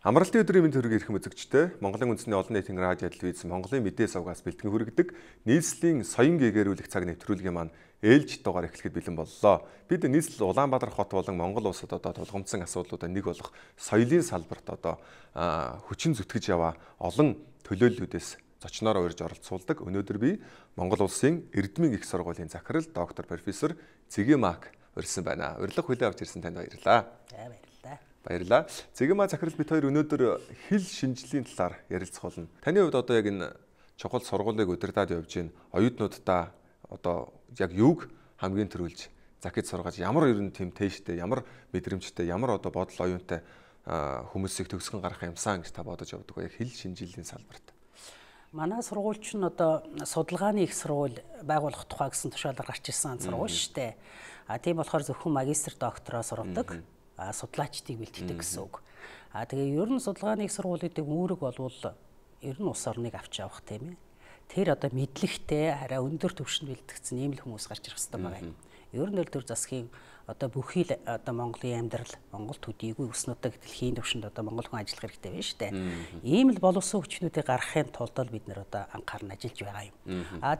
Амралтын өдрийн мэнд хүргэе ирэх үзэгчтэй Монголын үндэсний олон нийтийн радио телевиз Монголын мэдээ сувгаас бэлтгэн хүргэдэг нийслэлийн соён гээгэрүүлэх цаг нэвтрүүлгийн маань ээлж дугаар эхлэхэд бэлэн боллоо. Бид нийслэл Улаанбаатар хот болон Монгол улсад одоо тулгамдсан асуудлуудаа нэг болох соёлын салбарт одоо хүчин зүтгэж яваа олон төлөөллүүдээс зочноор урьж оролцуулдаг. Өнөөдөр би Монгол улсын Эрдмийн их сургуулийн захирал доктор профессор Цэгэмаак урьсан байна. Урилга хүлээн авч ирсэн танд баярлалаа. Баярлалаа. Цэгэмаа захирал бид хоёр өнөөдөр хэл шинжлэлийн талаар ярилцах болно. Таны хувьд одоо яг энэ чухал сургуулийг удирдаад явж байна. Оюутнуудаа одоо яг юуг хамгийн түрүүлж захиж сургаж ямар ерөн тэм тээштэй, ямар мэдрэмжтэй, ямар одоо бодол оюунтай хүмүүсийг төгсгөн гарах юмсан гэж та бодож явдаг бай хэл шинжлэлийн салбарт. Манай сургууль ч одоо судалгааны их сургууль байгуулах тухай гэсэн тушаалаар гарч ирсэн сургууль шүү дээ. Тийм болохоор зөвхөн магистр доктороо сургадаг. Судлаачдыг бэлтгэдэг гэсэн үг. Тэгээ ер нь судалгааны их сургуулиудын үүрэг болвол ер нь улс орныг авч явах тийм ээ. Тэр одоо мэдлэгтэй хараа өндөр түвшинд бэлтгэсэн ийм л хүмүүс гарч ирэх хэрэгтэй байгаа юм. Ер нь л төр засгийн одоо бүхий л одоо Монголын амьдрал, Монгол төдийгүй өснөдөг дэлхийн түвшинд одоо монгол хүн ажиллах хэрэгтэй байна шүү дээ. Ийм л боловсон хүчнүүдийг гаргахын тулд бид нэр одоо анхааран ажиллаж байгаа юм.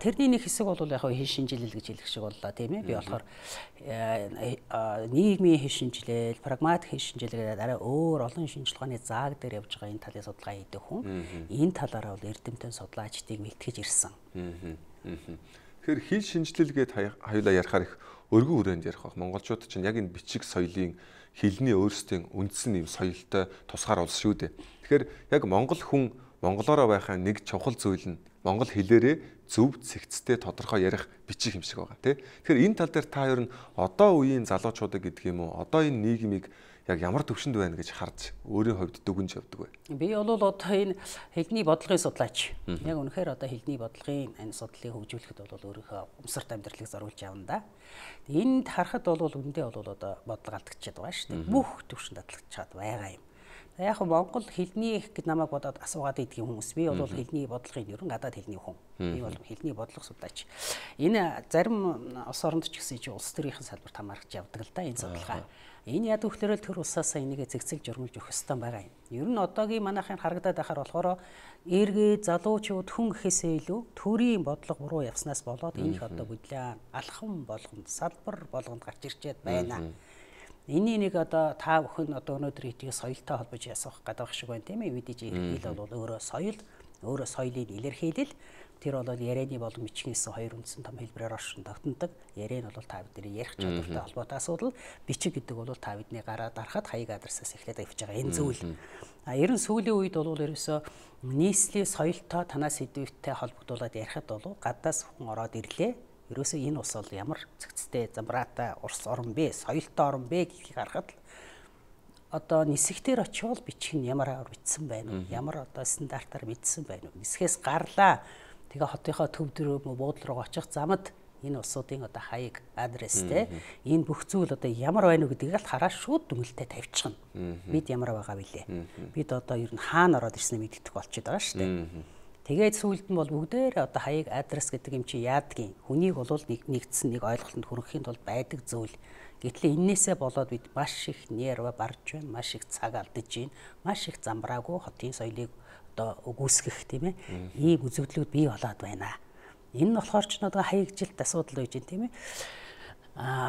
Тэрний нэг хэсэг бол яг хэл шинжилэл гэж хэлэх шиг боллоо тийм ээ. Би болохоор нийгмийн хэл шинжилэл, прагматик хэл шинжилэл гэдэг арай өөр олон шинжилгээ ухааны зааг дээр явж байгаа энэ талын судалгаа хийдэг хүн. Энэ талаараа бол эрдэмтэн судлаачдыг бэлтгэж ирсэн. Тэгэхээр хэл шинжилэл гээд хоёулаа ярихаар их өргөн хүрээнд ярих баг. Монголчууд чинь яг энэ бичиг соёлын хэлний өөрсдийн үндсэн юм соёлтой тусгаар улс шүү дээ. Тэгэхээр яг монгол хүн монголоороо байхын нэг чухал зүйл нь монгол хэлээрээ зөв цэгцтэй тодорхой ярих бичих юм шиг байгаа тий. Тэгэхээр энэ тал дээр та хоёр нь одоо үеийн залуучуудыг гэдэг юм уу? Одоо энэ нийгмийг яг ямар төвшөнд байна гэж харж өөрийн хувьд дүгнж явдаг вэ? Би бол одоо энэ хэлний бодлогын судлаач. Яг үнэхээр одоо хэлний бодлогын энэ судлалыг хөгжүүлэхэд бол өөрийнхөө умсарт амьдралыг зориулж явна да. Энд харахад бол үндэ бол одоо бодлого алдчихад байгаа шүү дээ. Бүх төвшөнд алдчихад байгаа юм. Яг Монгол хэлний гэд намайг бодоод асуугаад идэх хүмүүс. Би бол хэлний бодлогын ерөн гадаад хэлний хүн. Би бол хэлний бодлого судлаач. Энэ зарим улс оронд ч гэсэн чи улс төрийн салбарт хамаарч явдаг л да энэ судалгаа. Энэ яд өгөхлөрөл төр усаасаа энийг зэгцэл журмалж өгөх ёстой байгаа юм. Ер нь одоогийн манайхын харагдаад байхаар болохоор эргээ залуучууд хүн гэхээсээ илүү төрийн бодлого буруу явснаас болоод энэ их одоо бүдлээн алхам болгонд салбар болгонд гарч ирчээд байна. Энийг нэг одоо та бүхэн одоо өнөөдөр итгий соёлтой холбож ясах гэдэг шиг байна тийм ээ. Мэдээж иргэдэл бол өөрөө соёлын илэрхийлэл. Тэр бол ярианы болон бичгээс хоёр үндсэн том хэлбэрээр оршин тогтнодог. Яриа нь бол та бидний ярих чадвартай холбоотой асуудал. Бичиг гэдэг бол та бидний гараа дарахад хаяг адресаас эхлээд авчиж байгаа энэ зүйл. Ер нь сүүлийн үед бол ерөөсөө нийслэлийн соёлтой танаас сэдвүүтэй холбогдуулаад ярихад бол гадаас хүн ороод ирлээ. Ерөөсөө энэ ус бол ямар цэгцтэй замбраатай урс орн бэ, соёлтой орн бэ гэдгийг харахад одоо нисгтэр очивол бичих нь ямар аваар бичсэн байна уу? Ямар одоо стандартаар бичсэн байна уу? Нисгээс гарлаа. Тэгээ хотынхоо төв дөрөв буудлын руу очих замд энэ улсуудын одоо хаяг адрестэй энэ бүх зүйл одоо ямар байна уу гэдгийг л хараа шууд дүгнэлтэд тавьчихна. Бид ямар байгаа вүлээ? Бид одоо ер нь хаана ороод ирснээ мэддэх болчиход байгаа шүү дээ. Тэгээд сүүлд нь бол бүгдээр одоо хаяг адрес гэдэг юм чи яадгийн хүнийг бол нэгдсэн нэг ойлголтод хүрэхийн тулд байдаг зүйл. Гэтэл энээсээ болоод бид маш их нерв барж байна, маш их цаг алдаж байна, маш их замбраагүй хотын соёлыг одоо үгүйсгэх тийм ээ. Ийм үзэгдлүүд бий болоод байна. Энэ нь болохоор ч одоо хаягжилт асуудал байж байна тийм ээ.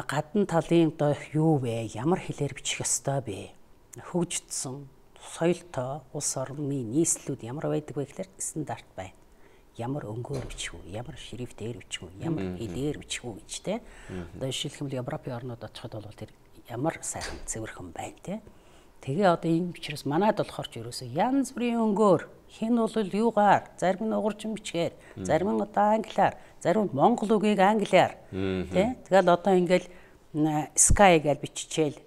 Гадна талын одоо юу вэ? Ямар хэлээр бичих ёстой бэ? Хөгжсөн соёлтой улс орны нийслэлүүд ямар байдаг вэ гэхээр стандарт байна. Ямар өнгөөр бичих үү, ямар шрифтээр бичих үү, ямар хэлээр бичих үү гэж те. Одоо жишээлбэл Европын орнууд очиход бол тэр ямар сайхан цэвэрхэн байна те. Тэгээ одоо энэ учраас манайд болохоор ч ерөөсөө янз бүрийн өнгөөр хин бол юугаар, зарим нь угарчин бичгээр, зарим нь одоо англиар, зарим нь монгол үгийг англиар те. Тэгэл одоо ингээл sky гэж биччихээл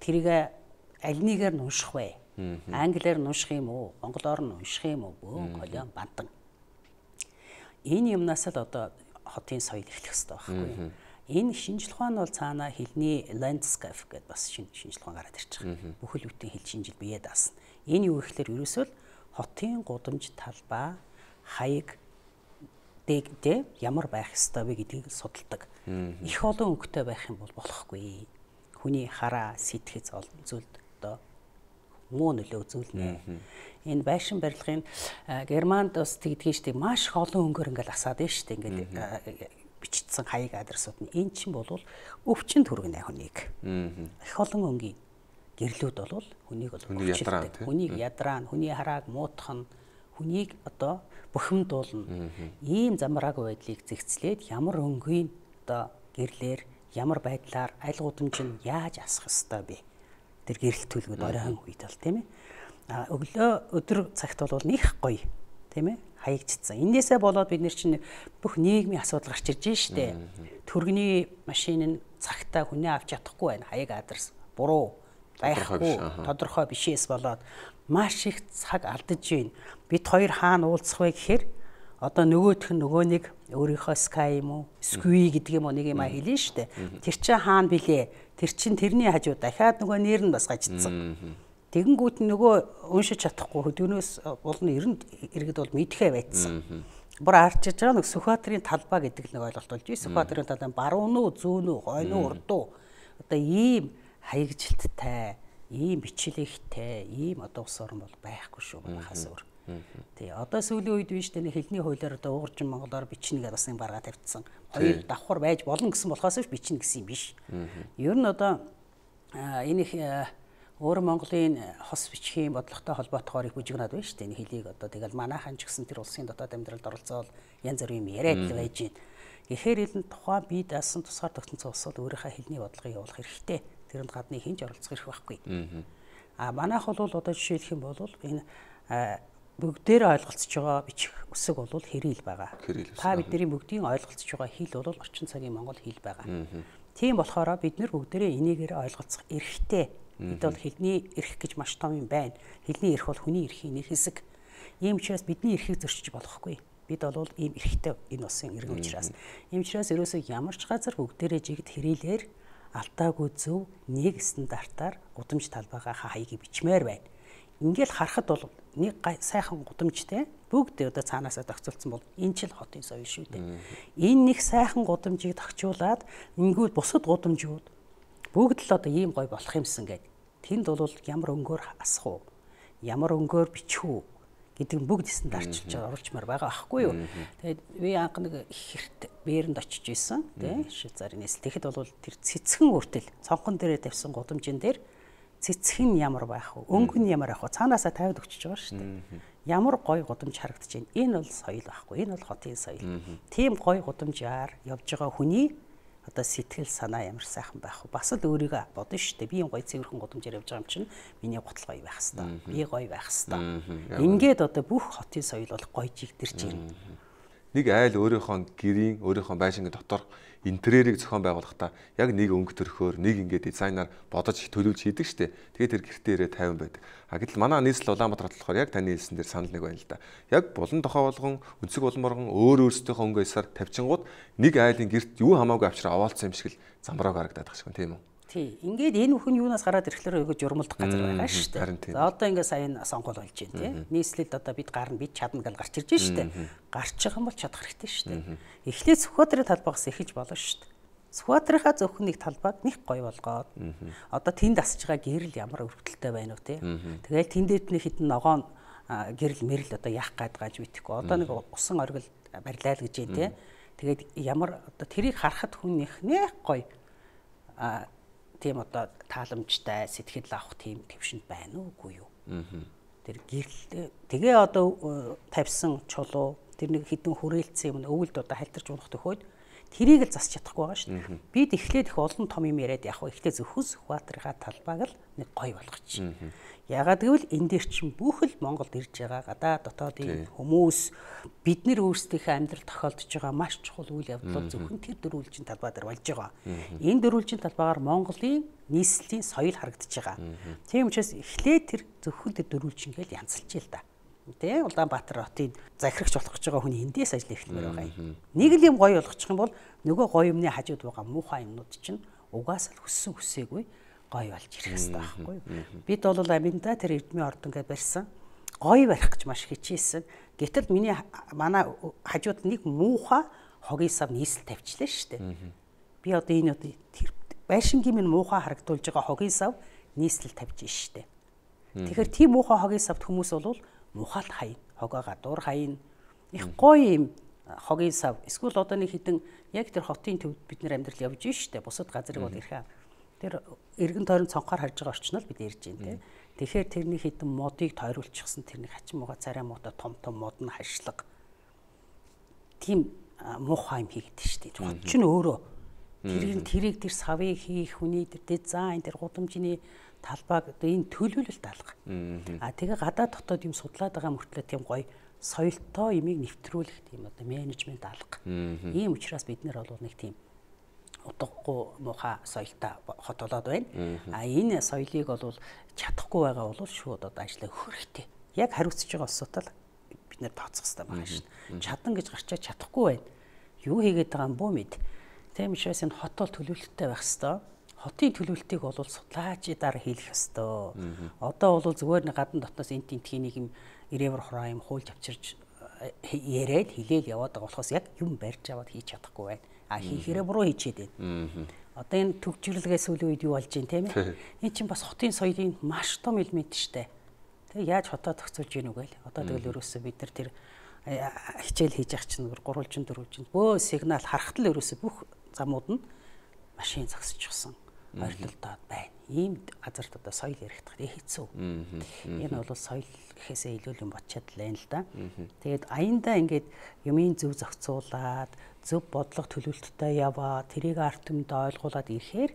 тэрийг аль нэгээр нь унших вэ? Англиар нь унших юм уу? Монголоор нь унших юм уу? Бөөн колон бандан. Энэ юмнаас л одоо хотын соёл эхлэх хэрэгтэй байхгүй. Энэ шинжлэх ухаан бол цаанаа хэлний landscape гэдэг бас шинжлэх ухаан гараад ирж байгаа. Бүхэл бүтэн хэл шинжил бие даасан. Энэ юу гэхээр ерөөсөө л хотын гудамж талбай хаяг дэгдээ ямар байх ёстой вэ гэдгийг судалдаг. Их олон өнгөтэй байх юм бол болохгүй. Хүний хараа сэтгэц олон зүйлд одоо муу нөлөө үзүүлнэ. Энэ байшин барилгын Германд бас тэгдэж штеп маш их олон өнгөөр ингээл асаад байна штеп ингээд бичигдсэн хаяг адресууд нь эн чинь бол өвчин түргэнэ хүнийг. Их олон өнгийн гэрлүүд бол хүнийг бол өвчлөлтэй. Хүнийг ядраа, хүний харааг муутгах нь хүнийг одоо бухимдуулна. Ийм замраагүй байдлыг зэгцлээд ямар өнгийн одоо гэрлэр ямар байдлаар аль гудамж нь яаж асах ёстой бэ? Тэр гэрэл төлгөд оройн үед бол тийм ээ. Өглөө өдөр цагт бол них гоё тийм ээ хаягдчихсан. Энээсээ болоод бид нэр чинь бүх нийгмийн асуудал гарч ирж штэ. Төргөний машин нь цагтаа хүнээ авч чадахгүй байна. Хаяг адрес буруу байхгүй тодорхой бишээс болоод маш их цаг алдаж байна. Бид хоёр хаана уулзах вэ гэхээр одоо нөгөөх нь нөгөө нэг өөрийнхөө Sky юм уу, Squee гэдэг юм уу нэг юм хэлнэ штэ. Тэр чинь хаана билээ? Тэр чинь тэрний хажуу дахиад нөгөө нэр нь бас гажидсан. Тэгэнгүүт нөгөө уншиж чадахгүй хөдөөнөөс болно иргэд бол мэдхээ байцсан. Бүр арчиж байгаа нэг Сүхбаатарын талбай гэдэг нэг ойлголт болж байна. Сүхбаатарын талбай баруун уу, зүүн үү, хойно уу, урд уу. Одоо ийм хаягжилттай, ийм бичлэгтэй, ийм одоо ус орн бол байхгүй шүү манайхаас өөр. Тий, одоо сүүлийн үед биш тэ хэлний хуулиар одоо ууржин монголоор бичнэ гэдээ бас нэг баргаа тавьдсан. Хоёр давхар байж болно гэсэн болохоос бичнэ гэсэн юм биш. Ер нь одоо энэ их өөр Монголын хос бичгийн бодлоготой холбоотойгоор их бүжигнаад байна шүү дээ. Энэ хэлийг одоо тэгэл манайхан ч гэсэн тэр улсын дотоод амьдралд оролцоод янз бүрийн юм яриад л байж байна. Гэхдээ энэ тухайн бие даасан тусгаар тогтнолцоо улсууд өөрийнхөө хэлний бодлогыг явуулах хэрэгтэй. Тэрэнд гадны хинж оролцох эрх байхгүй. Манайх бол одоо жишээлх юм бол энэ бүгдээр ойлголцож байгаа бичих үсэг бол хэрэл байгаа. Та бидний бүгдийн ойлголцож байгаа хэл бол орчин цагийн монгол хэл байгаа. Тийм болохоор бид нэр бүгдээрээ энийгээр ойлголцох эрхтэй. Бид бол хэлний эрх гэж маш том юм байна. Хэлний эрх бол хүний эрхийн нэг хэсэг. Ийм учраас бидний эрхийг зөрчиж болохгүй. Бид бол ийм эрхтэй энэ улсын иргэн учраас. Ийм учраас ерөөсөө ямар ч газар бүгдээрээ жигд хэрэлээр алдаагүй зөв нэг стандартаар гудамж талбайгаа хаягийг бичмээр байна. Ингээл харахад бол нэг сайхан гудамжтэй бүгд одоо цаанаасаа тогтцолцсон бол энэ ч л хотын соёл шүү дээ. Энэ нэг сайхан гудамжийг тогтчуулаад ингүүл бусад гудамжууд бүгд л одоо ийм гоё болох юмсан гэд. Тэнд бол ямар өнгөөр асах уу? Ямар өнгөөр бичих үү гэдэг нь бүгд стандартчилж оруулчмаар байгаа аахгүй юу? Тэгээд би анх нэг их хэрт бээрэнд очиж исэн тий Швейцарын нийслэл. Тэгэхэд бол тэр цэцгэн үртэл цонхон дээрээ тавьсан гудамжин дээр цэцгэн ямар байх вэ? Өнгө нь ямар байх вэ? Цаанаасаа тавиад өгчөж байгаа шүү дээ. Ямар гоё гудамж харагдаж байна. Энэ бол соёл байхгүй. Энэ бол хотын соёл. Тийм гоё гудамжаар явж байгаа хүний одоо сэтгэл санаа ямар сайхан байх вэ? Бас л өөрийгөө бодно шүү дээ. Би юм гоё цэвэрхэн гудамжаар явж байгаа юм чинь миний гутал гоё байх хэвээр. Би гоё байх хэвээр. Ингээд одоо бүх хотын соёл бол гоё жигдэрч ирнэ. Нэг айл өөрийнхөө гэрийн, өөрийнхөө байшингийн дотор интерьерийг зохион байгуулахдаа яг нэг өнгө төрхөөр, нэг ингээд дизайнаар бодож төлөвлөж хийдэг штеп. Тэгээд тэр гэртээ ирээ 50 байдаг. Гэтэл манай нийслэл Улаанбаатар болохоор яг таны хэлсэн дээр санал нэг байна л да. Яг булан тохоо болгон, өнцөг булморгон өөр өөрсдийнхөө өнгө эсээр тавьчингууд нэг айлын гэрт юу хамаагүй авчраа овоолцсон юм шиг л замбрааг харагдаад байгаа шүү тийм үү? Тий. Ингээд энэ бүхэн юунаас гараад ирэхлээр айгуу журмалдах газар байгаа шүү дээ. За одоо ингээд сайн сонгол болж байна тий. Нийслэлд одоо бид гарна бид чадна гэж гарч ирж байна шүү дээ. Гарч байгаа юм бол чадах хэрэгтэй шүү дээ. Эхлээд Сүхбаатарын талбайгаас эхэлж болно шүү дээ. Сүхбаатарынхаа зөвхөн нэг талбайг нэг гоё болгоод одоо тэнд асж байгаа гэрэл ямар өргөдөлтэй байна уу тий. Тэгэл тэндээд нэг хитэн ногоон гэрэл мэрэл одоо яах гээд gaaj мэдхгүй. Одоо нэг усан оргил барилаа л гэж юм тий. Тэгээд ямар одоо тэрийг харахад хүн их нэх гоё тийм одоо тааламжтай сэтгэл авах тийм төвшөнд байна уугүй юу? Тэр гэрэл тэгээ одоо тавьсан чулуу тэр нэг хідэн хүрээлцсэн юм өвөлд одоо халтарч унах төхөөд тэрийг л засч чадахгүй байгаа шүү дээ. Бид эхлээд их олон том юм яриад явах вэ? Эхлээд зөвхөн Сүхбаатарынхаа талбайг л нэг гоё болгочих. Ягаад гэвэл энэ дээр чинь бүх л Монголд ирж байгаа гадаа дотоодын хүмүүс бид нэр өөрсдийнхөө амьдрал тохиолдож байгаа маш чухал үйл явдал зөвхөн тэр дөрвөлжин талбай дээр болж байгаа. Энэ дөрвөлжин талбайгаар Монголын нийслэлийн соёл харагдаж байгаа. Тийм учраас эхлээд тэр зөвхөн тэр дөрвөлжингээл янзалж ийл да. Тэ Улаанбаатар хотын захирагч болох гэж байгаа хүний эндээс ажил эхлэмээр байгаа юм. Нэг л юм гоё болгочих юм бол нөгөө гоё юмны хажууд байгаа муухай юмнууд чинь угаасаа л хүссэн хүсээгүй гоё болж ирэх хэрэгтэй байхгүй юу? Бид бол аминда тэр эрдмийн ордон гэж барьсан. Гоё барих гэж маш хичээсэн. Гэтэл манай хажууд нэг муухай хогийн сав нийслэл тавьчлаа шүү дээ. Би одоо энэ тэр байшингийн минь муухай харагдуулж байгаа хогийн сав нийслэл тавьж шүү дээ. Тэгэхээр тийм муухай хогийн савд хүмүүс бол мухаалт хаяна, хогоо гадуур хаяна. Их гоё юм хогийн сав. Эсвэл одоо нэг хідэн яг тэр хотын төвд бид нэр амьдрал явж штэ. Бусад газрыг бол ирэхээ. Тэр эргэн тойрон цонхоор харж байгаа орчнол бид ярьж байна те. Тэгэхээр тэрний хідэн модыг тойруулчихсан тэрний хачин мууга царай муутай том мод нь хашлаг. Тийм муухай юм хийгээд штэ. Хот ч нь өөрөө тэрийг тэр савыг хийх хүний тэр дизайн тэр гудамжны талбайг одоо энэ төлөвлөлт алга. Тэгээ гадаад дотоод юм судлаад байгаа мөртлөө тийм гоё соёлтой юмыг нэвтрүүлэх тийм одоо менежмент алга. Ийм учраас бид нэр бол нэг тийм утгагүй муухай соёлтой хот болоод байна. Энэ соёлыг бол чадахгүй байгаа бол шууд одоо ажиллаа өгөх хэрэгтэй. Яг хариуцж байгаа асуудал бид нэр тооцох хэрэгтэй байгаа шин. Чадан гэж гарчаа чадахгүй байна. Юу хийгээд байгаа юм бөө мэд. Тийм учраас энэ хот бол төлөвлөлттэй байх хэрэгтэй. Хотын төлөвлөлтийг бол судлаачдаар хийх ёстой. Одоо бол зүгээр нэг гадна дотноос энд тентхийн нэг юм ирээвэр хураа юм хуульж авчирч яриад хилээл яваад байгаа болохоос яг юм барьж аваад хийж чадахгүй байна. Хийхээрээ буруу хийчихэд байна. Одоо энэ төвчрлэгээс сүүлийн үед юу болж байна тийм ээ? Энэ чинь бас хотын соёлын маш том элемент штэ. Тэгээ яаж хотоо зохицуулж гин үгээл. Одоо тэгэл ерөөсөө бид нар тэр хичээл хийж явах чинь 3-4 жин бөө сигнал харахтал ерөөсөө бүх замууд нь машин зогсчихсон. Ойрлолдоод байна. Ийм газарт одоо соёл ярих хэцүү. Энэ бол соёл гэхээсээ илүү юм бодчиад л байна л да. Тэгээд аяндаа ингээд юмын зөв зохицуулаад, зөв бодлого төлөвлөлттэй яваа, тэрийг ард түмэнд ойлгуулад ирэхээр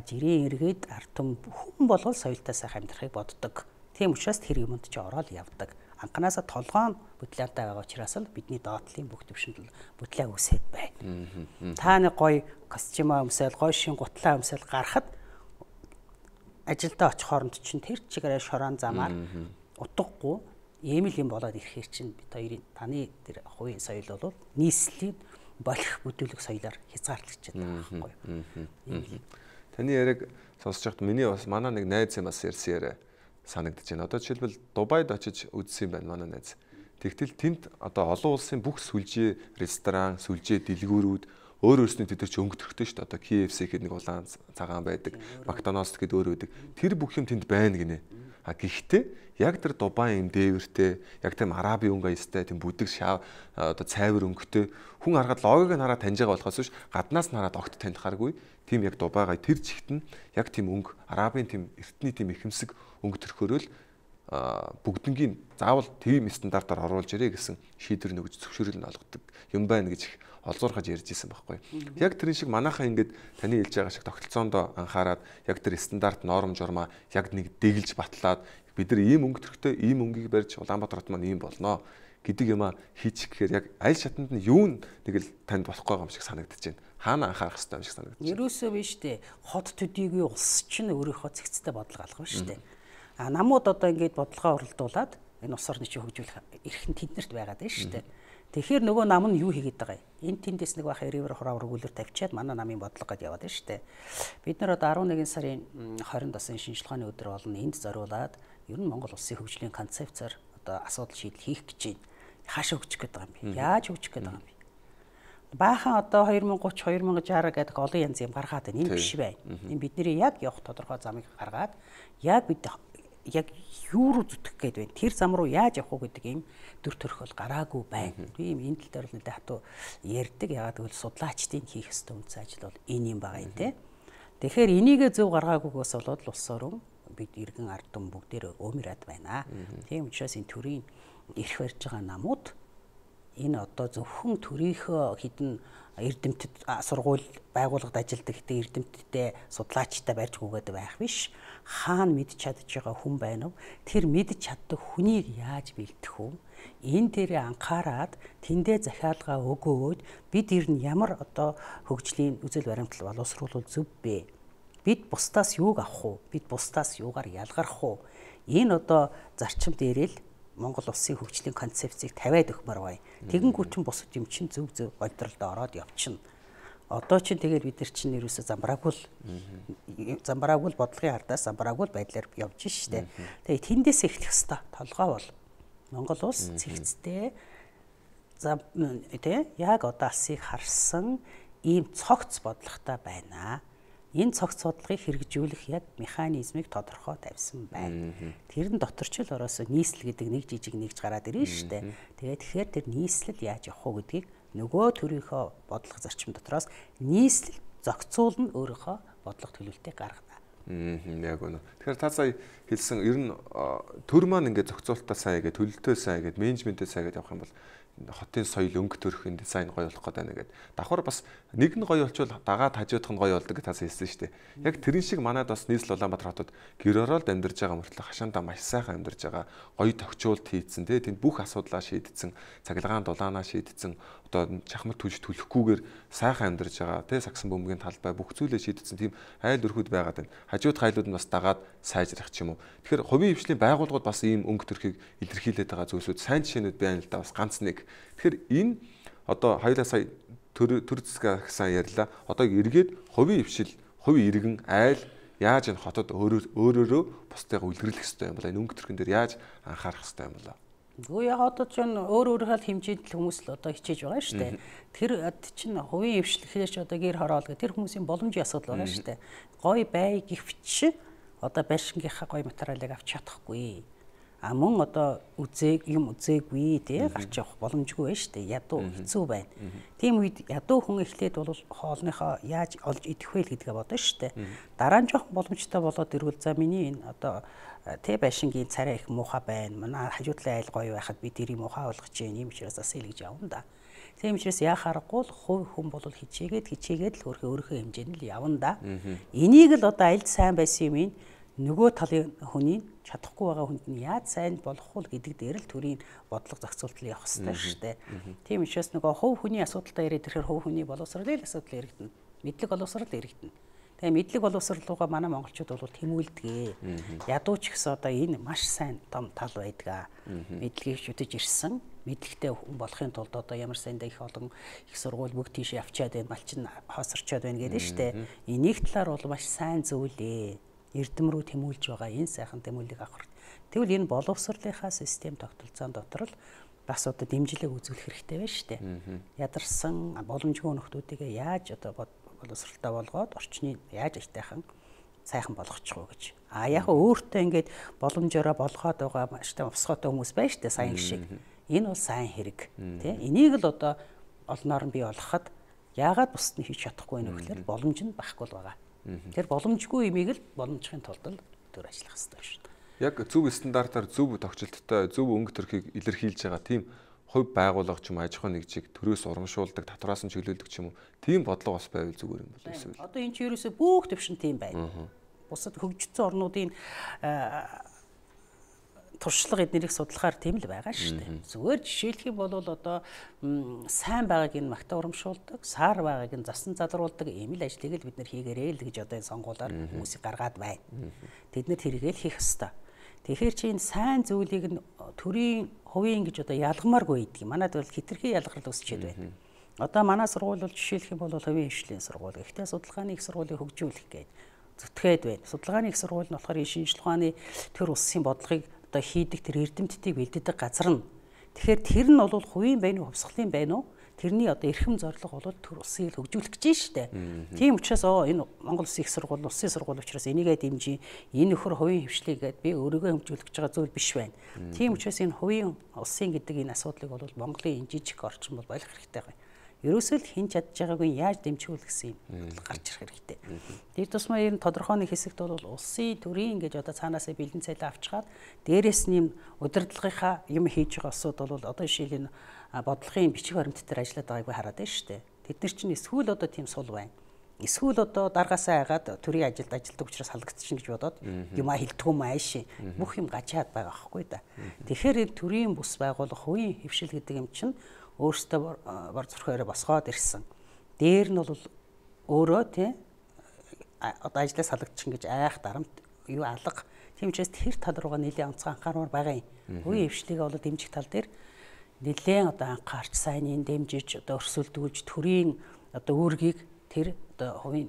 жирийн эргээд ард түм хүн болгол соёлтой сайхан амьдрахыг боддог. Тийм учраас тэр юмд ч ороод явдаг. Анханасаа толгоон бүтлэнтэй байгаа учраас л бидний доотлын бүх төвшөнд бүтлээ үсээд байна. Та нэг гоё костюм өмсөөл, гоё шин гутлаа өмсөөл гарахад ажилдаа очих хооронд чинь тэр чигээрээ шорон замаар утгагүй ийм л юм болоод ирэхээр чинь бид хоёрын таны тэр хувийн соёл бол нийслэлийн болох бүдүүлэг соёлоор хязгаарлагдчихад байгаа байхгүй юу? Таны яриаг сонсож байхад миний бас манай нэг найз юм бас ярьсан яриа санагдаж байна. Одоо жишээлбэл Дубайд очиж үзсэн юм байна манай найз. Тэгтэл тэнд одоо олон улсын бүх сүлжээ ресторан, сүлжээ дэлгүүрүүд өөр өөрсний тэд чи өнгөтөрхтэй шүү дээ. Одоо KFC гэдэг нэг улаан цагаан байдаг, McDonald's гэдэг өөр байдаг. Тэр бүх юм тэнд байна гинэ. Гэхдээ яг тэр Дубай юм дээвэртэй, яг тийм араби өнгө аястай, тийм бүдэг шав одоо цайвар өнгөтэй хүн харахад логик нь хараад таньж байгаа болохоос биш гаднаас нь хараад огт таньдахааргүй. Тийм яг Дубайгаа тэр чигт нь яг тийм өнгө, арабын тийм эртний тийм ихэмсэг өнгө төрхөөрөл бүгднгийн заавал тийм стандартаар оруулж ирээ гэсэн шийдвэр нөгөж зөвшөөрөл нь олгодог юм байна гэж их олзуурхаж ярьж исэн байхгүй. Яг тэрэн шиг манайхаа ингээд таны хэлж байгаа шиг тогтолцоондоо анхаарад яг тэр стандарт норм журмаа яг нэг дэглэж батлаад бид нар ийм өнгө төрхтэй ийм өнгийг барьж Улаанбаатар хот маань ийм болноо гэдэг юма хийчих гэхээр яг аль шатанд нь юу нэг л танд болохгүй юм шиг санагдаж байна. Хаана анхаарах хэрэгтэй юм шиг санагдаж байна. Ерөөсөө биш дээ. Хот төдийгүй улс чинь өөрийнхөө зэгцтэй бодлого алгав шүү дээ. Намууд одоо ингээд бодлогоо оролдуулад энэ улс орны чинь хөгжүүлэх эрх нь тэднэрт байгаад байна шүү дээ. Тэгэхээр нөгөө нам нь юу хийгээд байгаа юм? Энд тэндээс нэг баха ревер хураа өргүүлэр тавьчаад манай намын бодлого гэдээ яваад байна шүү дээ. Бид нар одоо 11 сарын 20-нд бас шинжлэх ухааны өдөр болно. Энд зориулаад ер нь Монгол улсын хөгжлийн концепцээр одоо асуудал шийдэл хийх гэж байна. Хаашаа хөгжих гээд байгаа юм бэ? Яаж хөгжих гээд байгаа юм бэ? Баахан одоо 2030 2060 гэдэг олон янз юм гаргаад байна. Энэ биш байна. Энэ бидний яг явах тодорхой замыг гаргаад яг бид яг юу руу зүтгэх гээд байна. Тэр зам руу яаж явах вэ гэдэг ийм төр төрхөл гараагүй байна. Би ийм энэ тал дээр л нэлээд хатуу ярьдаг. Ягаад гэвэл судлаачдын хийх ёстой үндэс ажил бол энэ юм байгаа юм те. Тэгэхээр энийгээ зөв гаргаагүйгээс болоод улс орон бид иргэн ард түмэн бүгдээр өмөрөд байна. Тийм учраас энэ төрийн эрх барьж байгаа намууд энэ одоо зөвхөн төрийнхөө хідэн эрдэмтэд сургууль байгууллагад ажилладаг хідэн эрдэмтдтэй судлаачтай барьж гүгээд байх биш. Хаана мэдж чадж байгаа хүн байна вэ? Тэр мэдж чаддаг хүнийг яаж бэлдэх вэ? Энэ дээрээ анхаарад тэндээ захиалга өгөөд бид ер нь ямар одоо хөгжлийн үзэл баримтлал боловсруулах зөв бэ? Бид бусдаас юуг авах вэ? Бид бусдаас юугаар ялгарх вэ? Энэ одоо зарчим дээрээ л Монгол улсын хөгжлийн концепцийг тавиад өгмөр бай. Тэгэнгүүт чинь бусад юм чинь зөв ойдролд ороод явчихна. Одоо чинь тэгээд бид нар чинь ерөөсө замбраагүй бодлогын ардаас замбраагүй байдлаар явж штэ. Тэгээд тэндээс эхлэх хэвээр толгой бол Монгол улс цэгцтэй яг одоо алсыг харсан ийм цогц бодлоготой байна. Энэ цогц судалгааг хэрэгжүүлэх яг механизмыг тодорхой тавьсан байна. Тэр нь дотор ч л ороосоо нийслэл гэдэг нэг жижиг нэгж гараад ирнэ шүү дээ. Тэгээд тэгэхээр тэр нийслэл яаж явах вэ гэдгийг нөгөө төрийнхөө бодлого зарчим дотроос нийслэл зохицуулна, өөрийнхөө бодлого төлөвлөлтийг гаргана. Яг үнэ. Тэгэхээр та сая хэлсэн ер нь төр маань ингээд зохицуулалтаа сайн гэдэг, төлөлтөө сайн гэдэг, менежментээ сайн гэдэг явах юм бол хотын соёл өнгө төрхийн дизайн гоё болох гэдэг байна гэдэг. Давхар бас нэг нь гоё болчвол дагаад хажуудах нь гоё болдог гэж тас хэлсэн шүү дээ. Яг тэрэн шиг манайд бас нийслэл Улаанбаатар хотод гэр оролд амьдарч байгаа мөртлөө хашаандаа маш сайхан амьдарч байгаа, гоё тохиолдолт хийцэн тий тэнд бүх асуудлаа шийдсэн, цахилгаан дулаанаа шийдсэн, одоо чахмал түж түлхгүйгээр сайхан амьдарч байгаа тий сагсан бөмбөгийн талбай бүх зүйлээ шийдсэн тийм айл өрхөд байгаад байна. Хажуудах айлууд нь бас дагаад сайжрах ч юм уу. Тэгэхээр хувийн хвшлийн байгууллагууд бас ийм өнгө төрхийг илэрхийлээд байгаа зүйлсүүд сайн жишээнүүд байна л да бас ганц нэг. Тэгэхээр энэ одоо хоёулаа сая төр зэсгээ гэсэн ярьлаа. Одоо эргээд хувийн хвшил, хувийн иргэн айл яаж энэ хотод өөрөөрөө бусдайгаа үлгэрлэх хэрэгтэй юм бол энэ өнгө төрхөн дээр яаж анхаарах хэрэгтэй юм болоо. Үгүй яг одоо ч өөрөөрөө хэмжээнд л хүмүүс л одоо хичээж байгаа шүү дээ. Тэр чинь хувийн хвшлэхээс одоо гэр хороол гэх тэр хүмүүсийн боломжийн асуудал байгаа шүү дээ. Гой бай гэвч одоо байшингийнхаа гой материалыг авч чадахгүй. А мөн одоо үзээгүй тий гарч явах боломжгүй байна шүү дээ. Ядуу хэцүү байна. Тийм үед ядуу хүн эхлээд бол хоолныхоо яаж олж идэх вэ гэдгээ бодно шүү дээ. Дараа нь жоохон боломжтой болоод ирвэл за миний энэ одоо тэ байшингийн царай их муухай байна. Манай хажуудлын айл гоё байхад би тэрийг муухай болгож юм учраас асаа л гэж явна да. Тийм учраас яхаарахгүй хувь хүн бол хичээгээд л өөрийнхөө хэмжээнд л явна да. Энийг л одоо альд сайн байсан юм нөгөө талын хүний чадахгүй байгаа хүнд нь яаж сайн болох вэ гэдэг дээр л төрийн бодлого зохицуултал явах хэрэгтэй шүү дээ. Тийм учраас нөгөө хувь хүний асуудалтай яриад ирэхээр хувь хүний боловсролын асуудал яригдана. Мэдлэг боловсрол яригдана. Тэгээ мэдлэг боловсролгоо манай монголчууд бол тэмүүлдэг. Ядуу ч гэсэн одоо энэ маш сайн том тал байдаг. Мэдлэгийг шүтэж ирсэн. Мэдлэгтэй хүн болохын тулд одоо ямар сайндаа их олон их сургууль бүгд тийш явчаад байна, малчин хоосорчоод байна гэдэг нь шүү дээ. Энийг талаар бол маш сайн зүйлээ. Эрдэм рүү тэмүүлж байгаа энэ сайхан тэмүүлгийг авах. Тэгвэл энэ боловсролынхаа систем тогтолцоон дотор л бас одоо дэмжлэг үзүүлэх хэрэгтэй байна шүү дээ. Ядарсан боломжгүй нөхдүүдийг яаж одоо боловсролтой болгоод орчныг яаж ажтайхан сайхан болгочих вэ гэж. А яг өөртөө ингээд боломжоор болгоод байгаа маш том овсгоотой хүмүүс байна шүү дээ сайн шиг. Энэ бол сайн хэрэг тий. Энийг л одоо олноор нь бий болгоход яагаад бусд нь хийж чадахгүй вэ гэхээр боломж нь байхгүй л байгаа. Тэр боломжгүй имийг л боломжхийн тулд л төр ажиллах хэрэгтэй шүү дээ. Яг зөв стандартаар зөв тогтчлолттой зөв өнгө төрхийг илэрхийлж байгаа тийм хувь байгууллага ч юм аж ахуйн нэгжийг төрөөс урамшуулдаг, татвараас нь чиглүүлдэг ч юм уу. Тийм бодлого бас байвал зүгээр юм бол эсвэл. Одоо энэ ч ерөөсөө бүх төвшин тийм байна. Бусад хөгжсөн орнуудын туршлага эднэрийг судлахаар тийм л байгаа шүү дээ. Зүгээр жишээлх юм бол одоо сайн байгааг нь магтаа урамшуулдаг, саар байгааг нь засан залруулдаг ийм л ажлыг л бид нэр хийгээрэй л гэж одоо энэ сонгуулаар хүмүүсийг гаргаад байна. Тэд нэр тэргээл хийх ёстой. Тэгэхээр чи энэ сайн зүйлийг нь төрийн хувийн гэж одоо ялгамааргүй гэдэг. Манайд бол хитрхи ялгарл үсчээд байна. Одоо манай сургууль бол жишээлх юм бол хувийн хвшлийн сургууль. Гэхдээ судалгааны их сургуулийг хөгжүүлэх гээд зүтгээд байна. Судалгааны их сургууль нь болохоор шинжлэх ухааны төр улсын бодлогыг одоо хийдэг тэр эрдэмтдийг бэлддэг газар нь. Тэгэхээр тэр нь бол хувийн байна уу, хувьсгалын байна уу? Тэрний одоо эрхэм зорилго бол төр улсыг хөгжүүлэх гэж штэ. Тийм учраас энэ Монгол Улсын их сургууль, улсын сургууль учраас энийгээ дэмжиж энэ нөхөр хувийн хвшлийгээд би өөрийгөө хөгжүүлэх гэж байгаа зүйл биш байна. Тийм учраас энэ хувийн улсын гэдэг энэ асуудлыг бол Монголын энэ жижиг орчин бол болох хэрэгтэй байна. Ерөөсөө л хэн чадж байгаагүй яаж дэмжүүлэх гэсэн юм гарч ирэх хэрэгтэй. Тэр тусмаа энэ тодорхой нэг хэсэгт бол улсын төрийн гэж одоо цаанаасаа бэлэн цайлаа авчгаад дээрээс нь удирдлагынхаа юм хийж байгаа улсууд бол одоо жишээл энэ бодлогын бичиг баримт дээр ажиллаад байгаагүй хараад байна шүү дээ. Тэд нар чинь эсвэл одоо тийм сул байна. Эсвэл одоо даргаасаа айгаад төрийн ажилд ажилладаг учраас халагдчихна гэж бодоод юмаа хилдэггүй мааш бүх юм гачаад байгаа байхгүй да. Тэгэхээр төрийн бус байгууллага хувийн хвшил гэдэг юм чинь өөртөө бар зурхаараа босгоод ирсэн. Дээр нь бол өөрөө тий одоо ажлаас халагдчихна гэж айх дарамт юу алга. Тийм учраас тэр тал руугаа нэлээд онцгой анхаармаар байгаа юм. Хувийн хвшлийгээ бол дэмжих тал дээр нэлээд одоо анхаарч сайныг дэмжиж одоо өрсөлдүүлж төрийн одоо үүргийг тэр одоо хувийн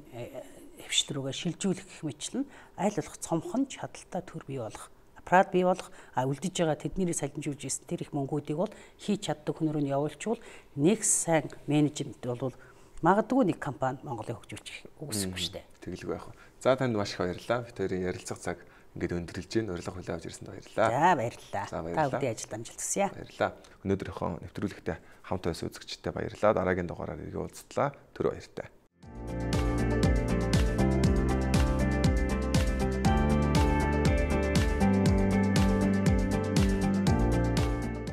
хвшил рүүгээ шилжүүлэх гэх мэтлэн аль болох цомхон чадaltaй төр бий болох аппарат бий болох үлдэж байгаа тэднийг салжуулж ирсэн тэр их мөнгүүдийг бол хийж чаддаг хүн рүү нь явуулчвал нэг сайн менежмент бол магадгүй нэг компани Монголыг хөгжүүлчих үгүйсэхгүй шүү дээ. Тэгэлгүй яах вэ? За танд маш их баярлалаа. Бид хоёрын ярилцах цаг ингээд өндөрлөж байна. Урилга хүлээн авч ирсэнд баярлалаа. За баярлалаа. За, баярлалаа. Та бүдгийн ажилд амжилт хүсье. Баярлалаа. Өнөөдрийнхөө нэвтрүүлэгтээ хамт байсан үзэгчдэд баярлалаа. Дараагийн дугаараар иргэ уулзтлаа. Түр баяртай.